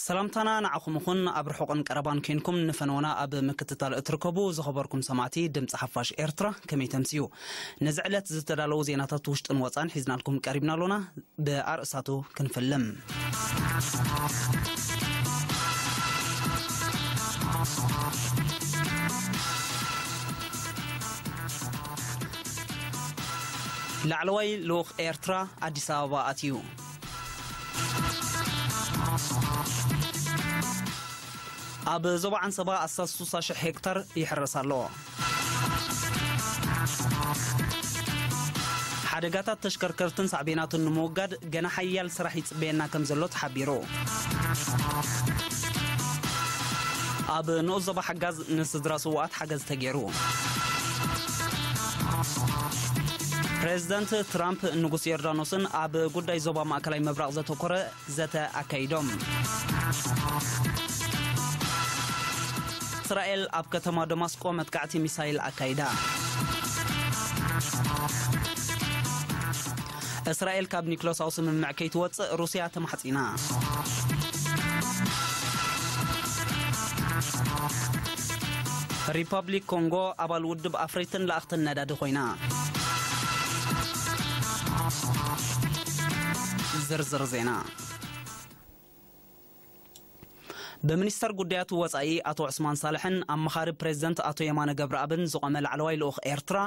ሰላምታና ንዓኹም ይኹን። ኣብ ርሑቕን ቀረባን ኮይንኩም ንፈነወና ኣብ ምክትታል እትርከቡ ዝኸበርኩም ሰማዕቲ ድምፂ ሓፋሽ ኤርትራ፣ ከመይ ተምስዩ? ነዚ ዕለት ዝተዳለዉ ዜናታት ውሽጥን ወፃን ሒዝናልኩም ቀሪብና ኣሎና። ብኣርእስታቱ ክንፍልም። ላዕለዋይ ልኡኽ ኤርትራ ኣዲስ ኣበባ ኣትዩ። ኣብ ዞባ ዓንሰባ ኣስታት ስሳ ሽሕ ሄክታር ይሕረስ ኣሎ። ሓደጋታት ተሽከርከርትን ሳዕቤናቱን ንምውጋድ ገና ሓያል ስራሕ ይጽበየና ከም ዘሎ ተሓቢሩ። ኣብ ንኡስ ዞባ ሓጋዝ ንስድራ ስውኣት ሓገዝ ተገይሩ። ፕሬዚደንት ትራምፕ ንጉስ ዮርዳኖስን ኣብ ጉዳይ ዞባ ማእከላይ ምብራቕ ዘተኮረ ዘተ ኣካይዶም። እስራኤል ኣብ ከተማ ደማስቆ መጥቃዕቲ ሚሳይል ኣካይዳ። እስራኤል ካብ ኒክሎሳዊ ስምምዕ ከይትወጽእ ሩስያ ተማሕጺና። ሪፐብሊክ ኮንጎ ኣባል ውድብ ኣፍረይትን ለኣኽትን ነዳዲ ኮይና። ዝርዝር ዜና። ብሚኒስተር ጉዳያት ወጻኢ ኣቶ ዑስማን ሳልሕን ኣመኻሪ ፕሬዚደንት ኣቶ የማነ ገብረኣብን ዝቖመ ላዕለዋይ ልኡኽ ኤርትራ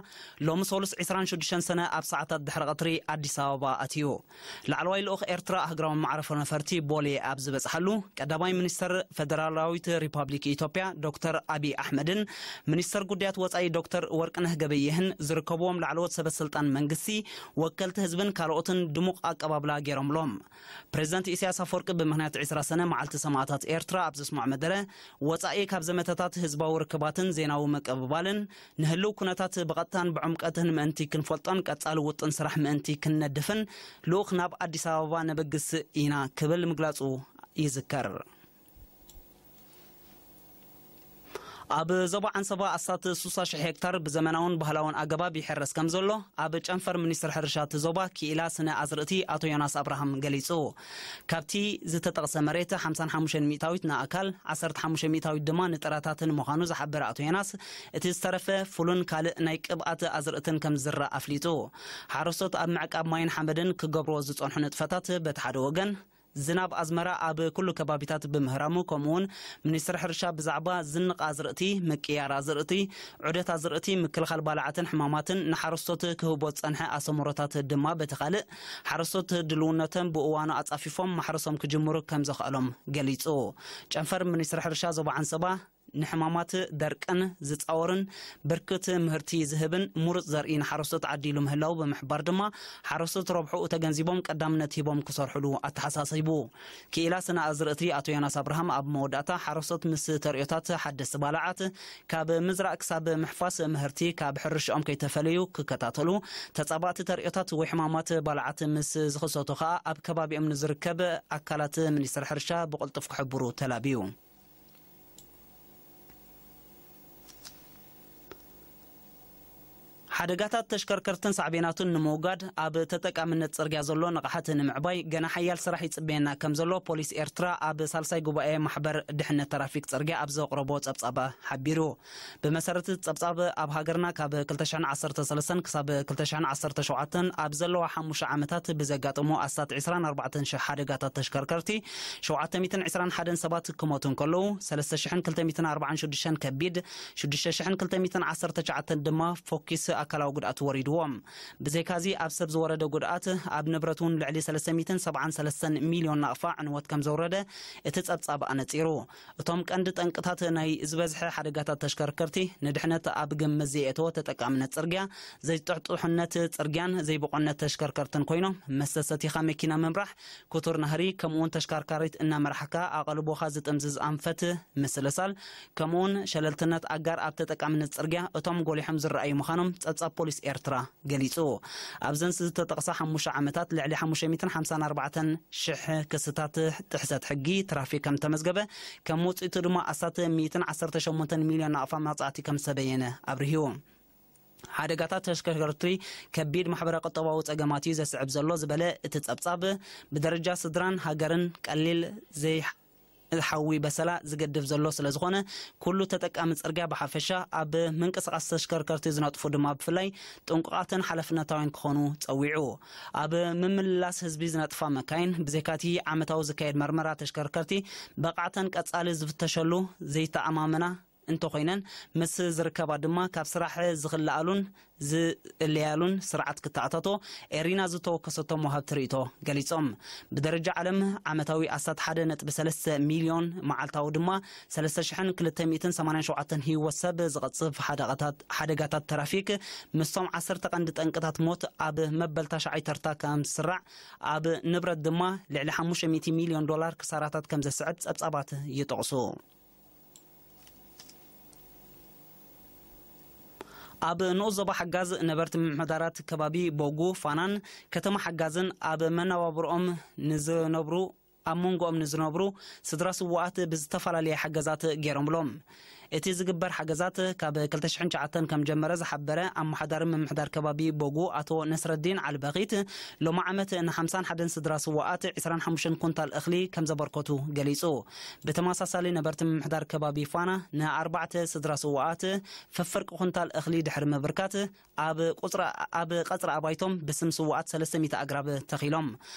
ሎሚ ሰሉስ ዕስራን ሽዱሽተን ሰነ ኣብ ሰዓታት ድሕሪ ቀትሪ ኣዲስ ኣበባ ኣትዩ። ላዕለዋይ ልኡኽ ኤርትራ ኣህግራዊ መዕረፎ ነፈርቲ ቦሌ ኣብ ዝበጽሓሉ፣ ቀዳማይ ሚኒስተር ፈደራላዊት ሪፓብሊክ ኢትዮጵያ ዶክተር ኣቢይ ኣሕመድን ሚኒስተር ጉዳያት ወጻኢ ዶክተር ወርቅነህ ገበየህን ዝርከብዎም ላዕለዎት ሰበ ስልጣን መንግስቲ፣ ወከልቲ ህዝብን ካልኦትን ድሙቕ ኣቀባብላ ገይሮምሎም። ፕሬዚደንት ኢሳያስ ኣፈወርቂ ብምኽንያት ዕስራ ሰነ መዓልቲ ሰማእታት ኤርትራ ኣብ ዘስምዖ መደረ፣ ወጻኢ ካብ ዘመተታት ህዝባዊ ርክባትን ዜናዊ ምቅብባልን ንህልው ኩነታት ብቐጥታን ብዕምቀትን ምእንቲ ክንፈልጦን ቀጻሊ ውጥን ስራሕ ምእንቲ ክንነድፍን ልኡኽ ናብ ኣዲስ ኣበባ ነበግስ ኢና ክብል ምግላጹ ይዝከር። ኣብ ዞባ ዓንሰባ ኣስታት ስሳ ሽሕ ሄክታር ብዘመናውን ባህላውን ኣገባብ ይሕረስ ከም ዘሎ ኣብ ጨንፈር ሚኒስትሪ ሕርሻ እቲ ዞባ ክኢላ ስነ ኣዝርእቲ ኣቶ ዮናስ ኣብርሃም ገሊጹ። ካብቲ ዝተጠቕሰ መሬት ሓምሳን ሓሙሽተን ሚእታዊት ንኣእካል፣ ዓሰርተ ሓሙሽተ ሚእታዊት ድማ ንጥራታትን ምዃኑ ዝሓበረ ኣቶ ዮናስ፣ እቲ ዝተረፈ ፉልን ካልእ ናይ ቅብኣት ኣዝርእትን ከም ዝዝራእ ኣፍሊጡ። ሓረስቶት ኣብ ምዕቃብ ማይን ሓመድን ክገብርዎ ዝጸንሑ ንጥፈታት በቲ ሓደ ወገን፣ ዝናብ ኣዝመራ ኣብ ኩሉ ከባቢታት ብምህራሙ፣ ከምኡውን ሚኒስትሪ ሕርሻ ብዛዕባ ዝንቕ ኣዝርእቲ፣ ምቅያር ኣዝርእቲ፣ ዑደት ኣዝርእቲ፣ ምክልኻል ባልዓትን ሕማማትን ንሓረስቶት ክህቦ ዝጸንሐ ኣሰምሮታት ድማ በቲ ካልእ፣ ሓረስቶት ድልውነቶም ብእዋኑ ኣጻፊፎም ማሕረሶም ክጅምሩ ከም ዘኽኣሎም ገሊጹ። ጨንፈር ሚኒስትሪ ሕርሻ ዞባ ዓንሰባ፣ ንሕማማት ደርቅን ዝጻወርን ብርክት ምህርቲ ዝህብን ምሩጽ ዘርኢ ንሓረስቶት ዓዲሉ ምህላው ብምሕባር ድማ፣ ሓረስቶት ረብሕኡ ተገንዚቦም ቀዳምነት ሂቦም ክሰርሕሉ ኣተሓሳሲቡ። ክኢላ ስነ ኣዝርእቲ ኣቶ ዮናስ ኣብርሃም ኣብ መወዳእታ፣ ሓረስቶት ምስ ተርእዮታት ሓደስቲ ባልዓት፣ ካብ ምዝራእ ክሳብ ምሕፋስ ምህርቲ ካብ ሕርሽኦም ከይተፈለዩ ክከታተሉ፣ ተጻባእቲ ተርእዮታት ወይ ሕማማት ባልዓት ምስ ዝኽሰቱ ከኣ ኣብ ከባቢኦም ንዝርከብ ኣካላት ሚኒስትሪ ሕርሻ ብቕልጡፍ ክሕብሩ ተላብዩ። ሓደጋታት ተሽከርከርትን ሳዕቤናቱን ንምውጋድ ኣብ ተጠቃምነት ጽርግያ ዘሎ ንቕሓት ንምዕባይ ገና ሓያል ስራሕ ይጽበየና ከም ዘሎ ፖሊስ ኤርትራ ኣብ ሳልሳይ ጉባኤ ማሕበር ድሕነት ትራፊክ ጽርግያ ኣብ ዘቕረቦ ጸብጻብ ሓቢሩ። ብመሰረት እቲ ጸብጻብ፣ ኣብ ሃገርና ካብ ክልተ ሽሕን ዓሰርተ ሰለስተን ክሳብ ክልተ ሽሕን ዓሰርተ ሸውዓተን ኣብ ዘለዋ ሓሙሽተ ዓመታት ብዘጋጠሙ ኣስታት ዕስራን ኣርባዕተን ሽሕ ሓደጋታት ተሽከርከርቲ፣ ሸውዓተ ሚእትን ዕስራን ሓደን ሰባት ክሞቱ እንከለዉ፣ ሰለስተ ሽሕን ክልተ ሚእትን ኣርባዓን ሽዱሽተን ከቢድ፣ ሽዱሽተ ሽሕን ክልተ ሚእትን ዓሰርተ ትሽዓተን ድማ ፈኲስ ኣካላዊ ጉድኣት ወሪድዎም። ብዘይካዚ፣ ኣብ ሰብ ዝወረደ ጉድኣት፣ ኣብ ንብረት እውን ልዕሊ ሰለስተ ሚእትን ሰብዓን ሰለስተን ሚልዮን ናቕፋ ዕንወት ከም ዘውረደ እቲ ጸብጻብ ኣነጺሩ። እቶም ቀንዲ ጠንቅታት ናይ ዝበዝሐ ሓደጋታት ተሽከርከርቲ፣ ንድሕነት ኣብ ግምት ዘየእተወ ተጠቃምነት ጽርግያ፣ ዘይጥሕጡሕነት ጽርግያን ዘይብቑዕነት ተሽከርከርትን ኮይኖም፣ መስተ ሰቲኻ መኪና ምምራሕ፣ ክቱር ናህሪ፣ ከምኡውን ተሽከርካሪት እናመራሕካ ኣቓልቦኻ ዝጥምዝዝ ኣንፈት ምስልሳል፣ ከምኡውን ሸለልትነት ኣጋር ኣብ ተጠቃምነት ጽርግያ እቶም ጎሊሖም ዝረኣዩ ምዃኖም ጸ- ጸብጻብ ፖሊስ ኤርትራ ገሊጹ። ኣብዘን ዝተጠቕሳ ሓሙሽተ ዓመታት ልዕሊ ሓሙሽተ ሚእትን ሓምሳን ኣርባዕተን ሽሕ ክስታት ጥሕሰት ሕጊ ትራፊክ ከም ተመዝገበ፣ ከም ውጽኢቱ ድማ ኣስታት ሚእትን ዓሰርተ ሸሞንተን ሚልዮን ናቕፋ መቕጻዕቲ ከም ዝተበየነ ኣብሪሁ። ሓደጋታት ተሽከርከርቲ ከቢድ ማሕበረ ቁጠባዊ ጸገማት እዩ ዘስዕብ ዘሎ ዝበለ እቲ ጸብጻብ፣ ብደረጃ ስድራን ሃገርን ቀሊል ዘይ ሓዊ በሰላ ዝገድፍ ዘሎ ስለ ዝኾነ፣ ኩሉ ተጠቃሚ ጽርግያ ብሓፈሻ፣ ኣብ ምንቅስቓስ ተሽከርከርቲ ዝነጥፉ ድማ ብፍላይ ጥንቁቓትን ሓላፍነታውያን ክኾኑ ጸዊዑ። ኣብ ምምልላስ ህዝቢ ዝነጥፋ መካይን፣ ብዘይካቲ ዓመታዊ ዝካየድ መርመራ ተሽከርከርቲ፣ ብቕዓተን ቀጻሊ ዝፍተሸሉ ዘይተኣማመና እንተኾይነን፣ ምስ ዝርከባ ድማ ካብ ስራሕ ዝኽልኣሉን ዝእለያሉን ስርዓት ክተኣታቶ ኤሪና ዝተወከሰቶም ወሃብቲ ርእይቶ ገሊጾም። ብደረጃ ዓለም ዓመታዊ ኣስታት ሓደ ነጥቢ ሰለስተ ሚልዮን፣ መዓልታዊ ድማ ሰለስተ ሽሕን ክልተ ሚእትን ሰማንያን ሸውዓተን ህይወት ሰብ ዝቐጽፍ ሓደጋታት፣ ሓደጋታት ትራፊክ ምስቶም ዓሰርተ ቀንዲ ጠንቅታት ሞት ኣብ መበል ታሽዓይ ተርታ ከም ዝስራዕ፣ ኣብ ንብረት ድማ ልዕሊ ሓሙሽተ ሚእቲ ሚልዮን ዶላር ክሳራታት ከም ዘስዕብ ጸብጻባት ይጠቕሱ። ኣብ ንኡስ ዞባ ሓጋዝ ነበርቲ ምምሕዳራት ከባቢ ቦጉ፣ ፋናን ከተማ ሓጋዝን ኣብ መነባብሮኦም ንዝነብሩ፣ ኣብ መንጎኦም ንዝነብሩ ስድራ ስዉኣት ብዝተፈላለየ ሓገዛት ገይሮምሎም። እቲ ዝግበር ሓገዛት ካብ ክልተ ሽሕን ትሽዓተን ከም ጀመረ ዝሓበረ ኣመሓዳሪ ምምሕዳር ከባቢ ቦጉ ኣቶ ነስረዲን ዓልበኺት፣ ሎሚ ዓመት ንሓምሳን ሓደን ስድራ ስዉኣት ዕስራን ሓሙሽተን ኩንታል እኽሊ ከም ዘበርከቱ ገሊጹ። ብተመሳሳሊ ነበርቲ ምምሕዳር ከባቢ ፋና ንኣርባዕተ ስድራ ስዉኣት ፈፍርቂ ኩንታል እኽሊ ድሕሪ ምብርካት፣ ኣብ ቁጽሪ፣ ኣብ ቀጽሪ ኣባይቶም ብስም ስዉኣት ሰለስተ ሚእቲ ኣግራብ ተኺሎም።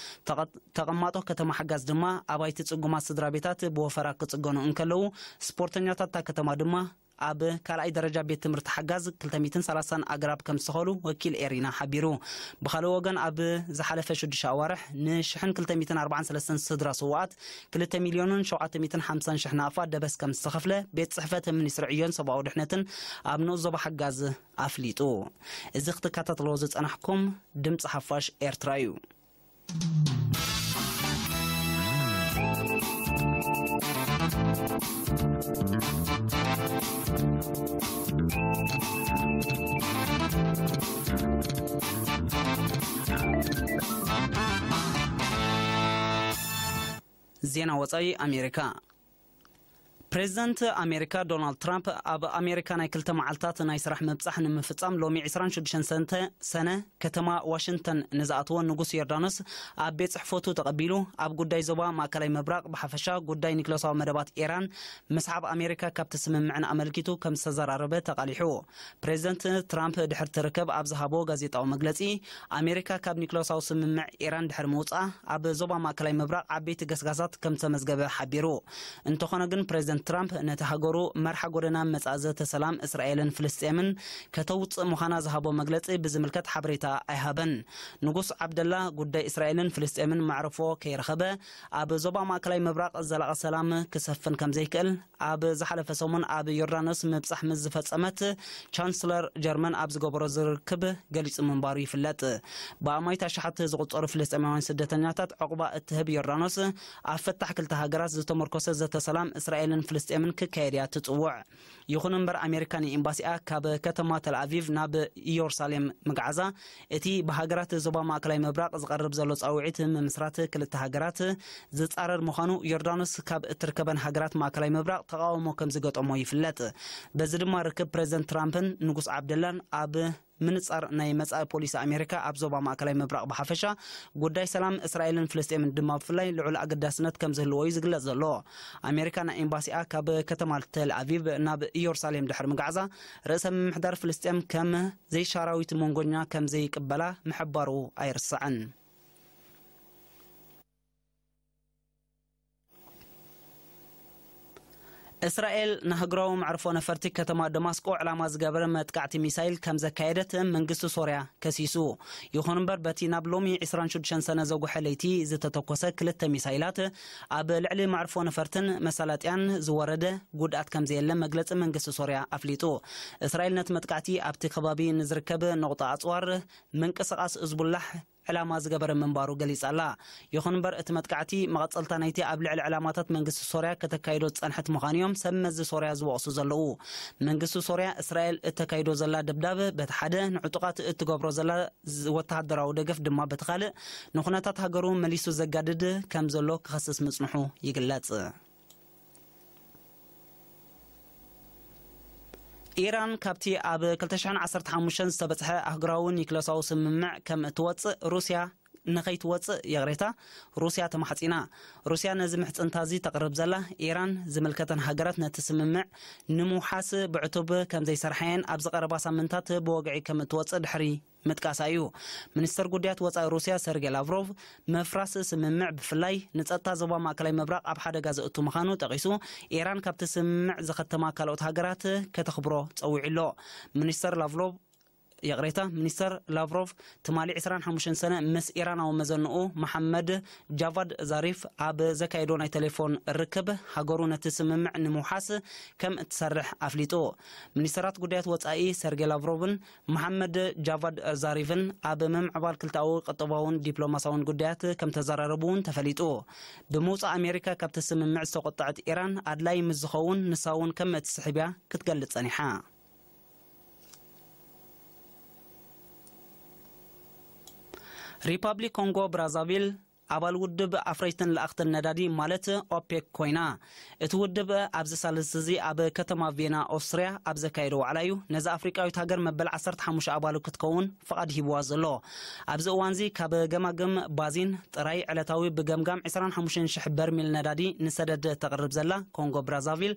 ተቐ-፣ ተቐማጦ ከተማ ሓጋዝ ድማ ኣባይቲ ጽጉማት ስድራ ቤታት ብወፈራ ክጽገኑ እንከለዉ፣ ስፖርተኛታት እታ ከተማ ድማ ኣብ ካልኣይ ደረጃ ቤት ትምህርቲ ሓጋዝ ክልተ ሚእትን ሰላሳን ኣግራብ ከም ዝተኸሉ ወኪል ኤሪና ሓቢሩ። ብኻልእ ወገን፣ ኣብ ዝሓለፈ ሽዱሽተ ኣዋርሕ ንሽሕን ክልተ ሚእትን ኣርባዓን ሰለስተን ስድራ ስዉኣት ክልተ ሚልዮንን ሸውዓተ ሚእትን ሓምሳን ሽሕ ናቕፋ ደበስ ከም ዝተኸፍለ ቤት ጽሕፈት ሚኒስትሪ ዕዮን ሰብኣዊ ድሕነትን ኣብ ንኡስ ዞባ ሓጋዝ ኣፍሊጡ። እዚ ክትከታተልዎ ዝጸናሕኩም ድምጺ ሓፋሽ ኤርትራ እዩ። ዜና ወጻኢ ኣሜሪካ። ፕሬዚደንት ኣሜሪካ ዶናልድ ትራምፕ ኣብ ኣሜሪካ ናይ ክልተ መዓልታት ናይ ስራሕ ምብጻሕ ንምፍጻም ሎሚ ዕስራን ሽዱሽተን ሰንተ-፣ ሰነ ከተማ ዋሽንግተን ንዝኣተወ ንጉስ ዮርዳኖስ ኣብ ቤት ጽሕፈቱ ተቐቢሉ፣ ኣብ ጉዳይ ዞባ ማእከላይ ምብራቕ ብሓፈሻ ጉዳይ ኒክለሳዊ መደባት ኢራን ምስሓብ ኣሜሪካ ካብቲ ስምምዕን ኣመልኪቱ ከም ዝተዘራረበ ተቓሊሑ። ፕሬዚደንት ትራምፕ ድሕሪ እቲ ርክብ ኣብ ዝሃቦ ጋዜጣዊ መግለጺ፣ ኣሜሪካ ካብ ኒክለሳዊ ስምምዕ ኢራን ድሕሪ ምውጻኣ ኣብ ዞባ ማእከላይ ምብራቕ ዓበይቲ ገስጋሳት ከም ዝተመዝገበ ሓቢሩ። እንተኾነ ግን፣ ፕሬዚደንት ትራምፕ ነቲ ሃገሩ መርሓ ጎደና መጻኢ ዘተ ሰላም እስራኤልን ፍልስጤምን ከተውጽእ ምዃና ዝሃቦ መግለጺ ብዝምልከት ሓበሬታ ኣይሃበን። ንጉስ ዓብደላ ጉዳይ እስራኤልን ፍልስጤምን መዕርፎ ከይረኸበ፣ ኣብ ዞባ ማእከላይ ምብራቕ ዘላቒ ሰላም ክሰፍን ከም ዘይክእል ኣብ ዝሓለፈ ሰሙን ኣብ ዮርዳኖስ ምብጻሕ ምስ ዝፈጸመት ቻንስለር ጀርመን ኣብ ዝገበሮ ዝርክብ ገሊጹ ምንባሩ ይፍለጥ። ብኣማኢት ኣሽሓት ዝቑጸሩ ፍልስጤማውያን ስደተኛታት ዕቑባ እትህብ ዮርዳኖስ፣ ኣብ ፍታሕ ክልተ ሃገራት ዝተመርኮሰ ዘተ ሰላም እስራኤልን ፍልስጤምን ክካየድ እያ ትጽውዕ። ይኹን እምበር፣ ኣሜሪካ ንኤምባሲኣ ካብ ከተማ ተልኣቪቭ ናብ ኢየሩሳሌም ምግዓዛ፣ እቲ ብሃገራት ዞባ ማእከላይ ምብራቕ ዝቐርብ ዘሎ ጻውዒት ምምስራት ክልተ ሃገራት ዝጻረር ምዃኑ ዮርዳኖስ ካብ እትርከበን ሃገራት ማእከላይ ምብራቕ ተቓውሞ ከም ዝገጠሞ ይፍለጥ። በዚ ድማ ርክብ ፕሬዚደንት ትራምፕን ንጉስ ዓብደላን ኣብ ምንጻር ናይ መጻኢ ፖሊሲ ኣሜሪካ ኣብ ዞባ ማእከላይ ምብራቕ ብሓፈሻ፣ ጉዳይ ሰላም እስራኤልን ፍልስጤምን ድማ ብፍላይ ልዑል ኣገዳስነት ከም ዝህልዎ እዩ ዝግለጽ ዘሎ። ኣሜሪካ ናይ ኤምባሲኣ ካብ ከተማ ተል ኣቪቭ ናብ ኢየሩሳሌም ድሕሪ ምግዓዛ፣ ርእሰ ምምሕዳር ፍልስጤም ከም ዘይሻራዊት መንጎኛ ከም ዘይቅበላ ምሕባሩ ኣይርሳዕን። እስራኤል ንሃገራዊ መዕርፎ ነፈርቲ ከተማ ደማስቆ ዕላማ ዝገበረ መጥቃዕቲ ሚሳይል ከም ዘካየደት መንግስቲ ሶርያ ከሲሱ። ይኹን እምበር፣ በቲ ናብ ሎሚ ዕስራን ሽዱሽተን ሰነ ዘጉሐ ለይቲ ዝተተኮሰ ክልተ ሚሳይላት ኣብ ልዕሊ መዕርፎ ነፈርትን መሳለጥያን ዝወረደ ጉድኣት ከም ዘየለ መግለጺ መንግስቲ ሶርያ ኣፍሊጡ። እስራኤል ነቲ መጥቃዕቲ ኣብቲ ከባቢ ንዝርከብ ነቑጣ ኣጽዋር ምንቅስቓስ እዝቡላሕ ዕላማ ዝገበረ ምንባሩ ገሊጻ ኣላ። ይኹን እምበር፣ እቲ መጥቃዕቲ መቐጸልታ ናይቲ ኣብ ልዕሊ ዕላማታት መንግስቲ ሶርያ ከተካይዶ ዝጸንሐት ምዃኑ እዮም ሰብ መዚ ሶርያ ዝወቕሱ ዘለዉ። መንግስቲ ሶርያ፣ እስራኤል እተካይዶ ዘላ ደብዳብ በቲ ሓደ፣ ንዕጡቓት እትገብሮ ዘላ ዝ-፣ ወተሃደራዊ ደገፍ ድማ በቲ ካልእ፣ ንኹነታት ሃገሩ መሊሱ ዘጋድድ ከም ዘሎ ክኸስስ ምጽንሑ ይግለጽ። ኢራን ካብቲ ኣብ ክልተ ሽሕን ዓሰርተ ሓሙሽተን ዝተበጽሐ ኣህጉራዊ ኒክለሳዊ ስምምዕ ከም እትወጽእ ሩስያ፣ ንኸይትወጽእ፣ ይቕሬታ፣ ሩስያ ተማሕጺና። ሩስያ ነዚ ምሕጽንታ እዚ ተቕርብ ዘላ፣ ኢራን ዝምልከተን ሃገራት ነቲ ስምምዕ ንምውሓስ ብዕቱብ ከም ዘይሰርሓየን ኣብዚ ቀረባ ሳምንታት ብወግዒ ከም እትወጽእ ድሕሪ ምጥቃሳ እዩ። ሚኒስተር ጉዳያት ወጻኢ ሩስያ ሰርጌ ላቭሮቭ፣ ምፍራስ ስምምዕ ብፍላይ ንጸጥታ ዞባ ማእከላይ ምብራቕ ኣብ ሓደጋ ዘእቱ ምዃኑ ጠቒሱ፣ ኢራን ካብቲ ስምምዕ ዝኸተማ ካልኦት ሃገራት ከተኽብሮ ጸዊዑ ኣሎ። ሚኒስተር ላቭሮቭ፣ ይቕሬታ፣ ሚኒስተር ላቭሮቭ ትማሊ ዕስራን ሓሙሽተን ሰነ ምስ ኢራናዊ መዘንኡ መሓመድ ጃቫድ ዛሪፍ ኣብ ዘካየዶ ናይ ቴሌፎን ርክብ፣ ሃገሩ ነቲ ስምምዕ ንምውሓስ ከም እትሰርሕ ኣፍሊጡ። ሚኒስተራት ጉዳያት ወጻኢ ሰርጌ ላቭሮቭን መሓመድ ጃቫድ ዛሪፍን ኣብ ምምዕባል ክልተኣዊ ቁጠባውን ዲፕሎማሳውን ጉዳያት ከም ተዘራረቡ እውን ተፈሊጡ። ብምውጻእ ኣሜሪካ ካብቲ ስምምዕ ዝተቆጠዐት ኢራን ኣድላይ ምስ ዝኸውን ንሳ እውን ከም እትስሕብ እያ ክትገልጽ ጸኒሓ። ሪፓብሊክ ኮንጎ ብራዛቪል ኣባል ውድብ ኣፍረይትን ለኣኽትን ነዳዲ ማለት ኦፔክ ኮይና። እቲ ውድብ ኣብዚ ሳልስቲ እዚ ኣብ ከተማ ቬና ኦስትርያ ኣብ ዘካየዶ ዋዕላ እዩ ነዚ ኣፍሪቃዊት ሃገር መበል ዓሰርተ ሓሙሽተ ኣባሉ ክትከውን ፍቓድ ሂብዋ ዘሎ። ኣብዚ እዋንዚ ካብ ገማግም ባዚን ጥራይ ዕለታዊ ብገምጋም ዕስራን ሓሙሽተን ሽሕ በርሚል ነዳዲ ንሰደድ ተቕርብ ዘላ ኮንጎ ብራዛቪል፣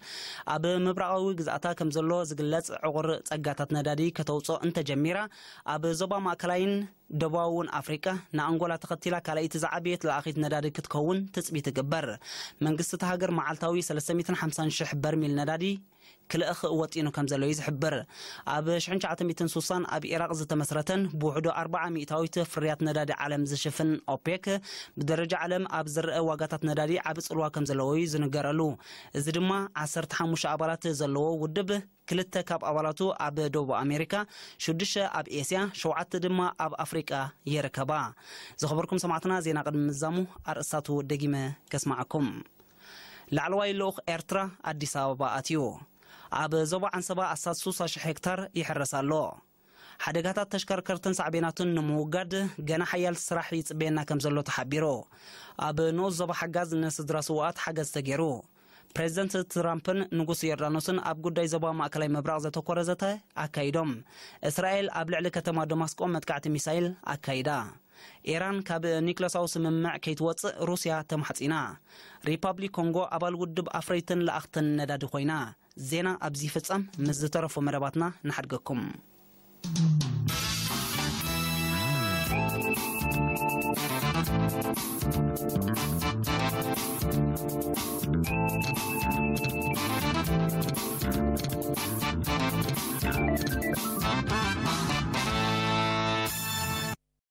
ኣብ ምብራቓዊ ግዝኣታ ከም ዘሎ ዝግለጽ ዕቑር ጸጋታት ነዳዲ ከተውጽኦ እንተጀሚራ፣ ኣብ ዞባ ማእከላይን ደቡባውን ኣፍሪቃ ንኣንጎላ ተኸቲላ ካልኣይቲ ዝዓበየት ለኣኺት ነዳዲ ክትከውን ትጽቢት ይግበር። መንግስቲ እታ ሃገር መዓልታዊ ሰለስተ ሚእትን ሓምሳን ሽሕ በርሚል ነዳዲ ክልእኽ ወጢኑ ከም ዘሎ እዩ ዝሕብር። ኣብ ሽሕን ትሽዓተ ሚእትን ስሳን ኣብ ኢራቕ ዝተመስረተን ብውሕዱ ኣርብዓ ሚእታዊት ፍርያት ነዳዲ ዓለም ዝሽፍን ኦፔክ፣ ብደረጃ ዓለም ኣብ ዝረአ ዋጋታት ነዳዲ ዓቢ ጽልዋ ከም ዘለዎ እዩ ዝንገረሉ። እዚ ድማ ዓሰርተ ሓሙሽተ ኣባላት ዘለዎ ውድብ፣ ክልተ ካብ ኣባላቱ ኣብ ደቡብ ኣሜሪካ፣ ሽዱሽተ ኣብ ኤስያ፣ ሸውዓተ ድማ ኣብ ኣፍሪቃ ይርከባ። ዝኸበርኩም ሰማዕትና፣ ዜና ቅድሚ ምዛሙ ኣርእስታቱ ደጊመ ከስማዓኩም። ላዕለዋይ ልኡኽ ኤርትራ ኣዲስ ኣበባ ኣትዩ። ኣብ ዞባ ዓንሰባ ኣስታት ስሳ ሽሕ ሄክታር ይሕረስ ኣሎ። ሓደጋታት ተሽከርከርትን ሳዕቤናቱን ንምውጋድ ገና ሓያል ስራሕ ይጽበየና ከም ዘሎ ተሓቢሩ። ኣብ ንኡስ ዞባ ሓጋዝ ንስድራ ስውኣት ሓገዝ ተገይሩ። ፕሬዚደንት ትራምፕን ንጉስ ዮርዳኖስን ኣብ ጉዳይ ዞባ ማእከላይ ምብራቕ ዘተኮረ ዘተ ኣካይዶም። እስራኤል ኣብ ልዕሊ ከተማ ደማስቆ መጥቃዕቲ ሚሳይል ኣካይዳ። ኢራን ካብ ኒክለሳዊ ስምምዕ ከይትወጽእ ሩስያ ተማሕጺና። ሪፓብሊክ ኮንጎ ኣባል ውድብ ኣፍረይትን ለኣኽትን ነዳዲ ኮይና። ዜና ኣብዚ ይፍጸም። ምስ ዝተረፉ መደባትና ንሓድገኩም።